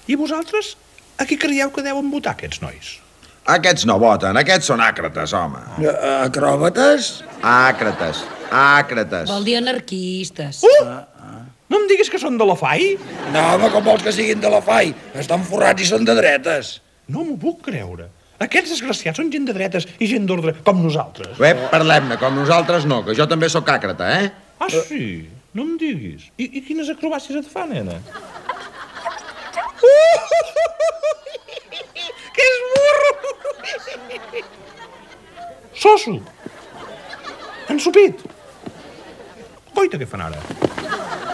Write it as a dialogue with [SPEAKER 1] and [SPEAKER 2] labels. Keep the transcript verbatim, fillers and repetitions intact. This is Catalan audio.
[SPEAKER 1] I vosaltres, a qui creieu que deuen votar aquests nois?
[SPEAKER 2] Aquests no voten, aquests són àcrates, home.
[SPEAKER 3] Acròbates?
[SPEAKER 2] Àcrates, àcrates.
[SPEAKER 4] Vol dir anarquistes.
[SPEAKER 1] Uh! No em diguis que són de la F A I?
[SPEAKER 3] No, home, com vols que siguin de la F A I? Estan forrats i són de dretes.
[SPEAKER 1] No m'ho puc creure. Aquests desgraciats són gent de dretes i gent d'ordre, com nosaltres.
[SPEAKER 2] Bé, parlem-ne, com nosaltres no, que jo també sóc àcrata, eh?
[SPEAKER 1] Ah, sí? No em diguis. I, i quines acrobàcies et fa, nena? Uh! Que és burro! Soso! Ensupit! Coita, què fan ara?